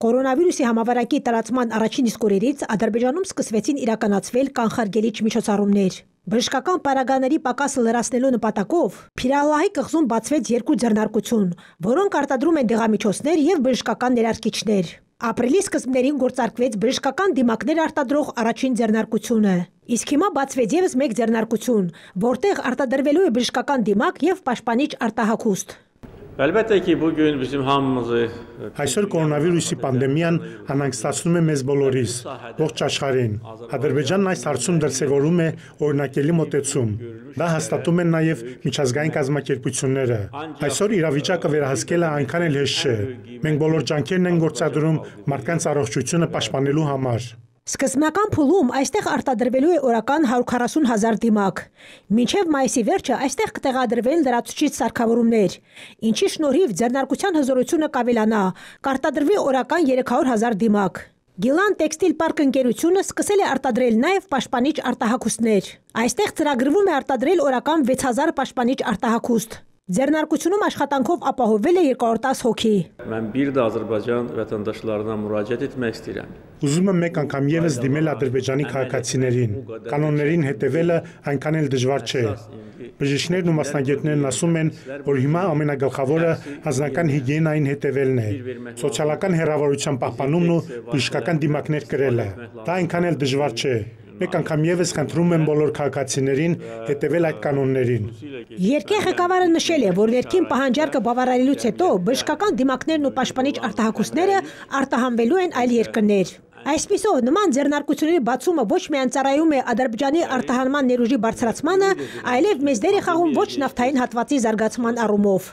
Կորոնավիրուսի համավարակի տարածման առաջին իսկ օրերից Ադրբեջանում սկսվեցին իրականացվել կանխարգելիչ միջոցառումներ։ Բժշկական պարագաների պակասը լրացնելու նպատակով Փիրալահի կղզում բացվեց 2 ձեռնարկություն, որոնք արտադրում են դեղամիջոցներ և բժշկական ներարկիչներ։ Ապրիլի սկզբներին գործարկվեց բժշկական դիմակներ արտադրող առաջին ձեռնարկությունը։ Իսկ հիմա բացվեց ևս մեկ ձեռնարկություն, որտեղ արտադրվելու է բժշկական դիմակ և պաշտպանիչ արտահագուստ։ Այսօր կորոնավիրուսի պանդեմիան անհանգստացնում է մեզ բոլորիս, ողջ աշխարհին։ Ադրբեջանն այս հարցում դրսևորում է օրինակելի մոտեցում։ Դա հաստատում են նաև միջազգային կազմակերպությունները։ Այսօր իրավիճակը վերահսկելը այնքան էլ հեշտ չէ։ Մենք բոլոր ջանքերն ենք գործադրում մարդկանց առողջությունը պաշտպանելու համար։ Սկզբնական փուլում այստեղ արտադրվելու է օրական 140,000 դիմակ։ Մինչև մայիսի վերջը այստեղ կտեղադրվեն լրացուցիչ սարքավորումներ, ինչի շնորհիվ ձեռնարկության հզորությունը կավելանա, կարտադրվի օրական 300,000 դիմակ։ Գիլան տեքստիլ պարկ ընկերությունը սկսել է արտադրել նաև պաշտպանիչ արտահագուստներ։ Այստեղ ծրագրվում է արտադրել օրական 6000 պաշտպանիչ արտահագուստ։ Ձեռնարկությունում աշխատանքով ապահովել է 210 հոգի։ Ուզում եմ մեկ անգամ ևս դիմել ադրբեջանի քաղաքացիներին։ Կանոններին հետևելը այնքան էլ դժվար չէ։ Բժիշկներն ու մասնագետներն ասում են, որ հիմա ամենագլխավորը անձնական հիգիենային հետևելն է, սոցիալական հեռավորության պահպանումն ու բժշկական դիմակներ կրելը։ Դա այնքան էլ դժվար չէ։ Մեկ անգամ ևս խնդրում եմ բոլոր քաղաքացիներին հետևել այդ կանոններին։ Երկրի ղեկավարը նշել է, որ ներքին պահանջարկը բավարարելուց հետո բժշկական դիմակներն ու պաշտպանիչ արտահագուստները արտահանվելու են այլ երկրներ։ Այսպիսով, նման ձեռնարկությունների բացումը ոչ միայն ծառայում է Ադրբեջանի արտահանման ներուժի բարձրացմանը, այլև մեծ դեր է խաղում ոչ նավթային հատվածի զարգացման առումով։